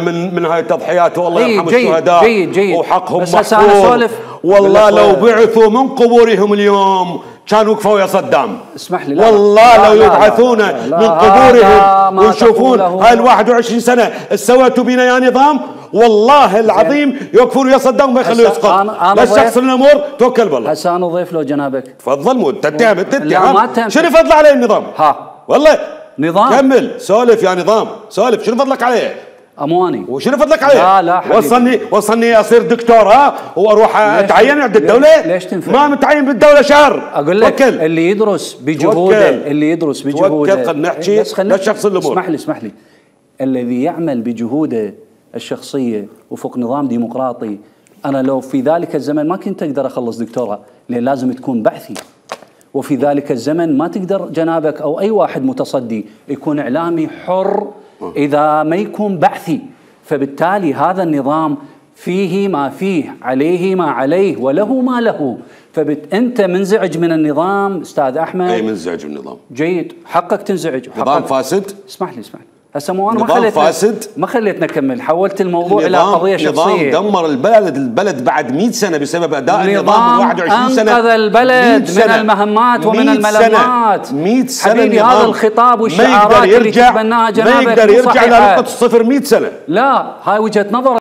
من هاي التضحيات، والله يرحم جيد الشهداء. جيد وحقهم بس هسه انا اسولف. والله لو بعثوا من قبورهم اليوم كانوا وقفوا يا صدام. اسمح لي. والله لو يبعثون من قبورهم ويشوفون هاي ال 21 سنه سويتوا بينا يا نظام، والله العظيم يوقفون يا صدام وما يخلوه يسقط. بس شخص الامور توكل بالله. هسه انا ضيف لو جنابك. تفضل. مو تتهم تتهم. شنو فضل عليه النظام؟ والله نظام. كمل سولف يا نظام، سولف. شنو فضلك عليه؟ امواني. وشنو فضلك عليه؟ لا حبيبي. وصلني اصير دكتور واروح اتعين عند الدوله؟ ليش تنفع؟ ما متعين بالدوله شهر. اقول لك توكل. اللي يدرس بجهوده، اللي يدرس بجهوده. توكل. خلينا نحكي للشخص الامور. اسمح لي. الذي يعمل بجهوده الشخصيه وفق نظام ديمقراطي، انا لو في ذلك الزمن ما كنت اقدر اخلص دكتوراه، لان لازم تكون بحثي. وفي ذلك الزمن ما تقدر جنابك او اي واحد متصدي يكون اعلامي حر اذا ما يكون بحثي. فبالتالي هذا النظام فيه ما فيه، عليه ما عليه، وله ما له. انت منزعج من النظام استاذ احمد؟ اي منزعج من النظام. جيد، حقك تنزعج. نظام فاسد. اسمح لي. هسه مو انا ما خليتنا نكمل، حولت الموضوع الى قضيه شخصيه. نظام دمر البلد بعد 100 سنه بسبب اداء النظام من 21 سنه. انقذ البلد من المهمات ومن الملمات. 100 سنه حبيبي، هذا الخطاب والشعارات اللي تتبناها جنابك ما يقدر يرجع لنقطه الصفر 100 سنه. لا، هاي وجهه نظر.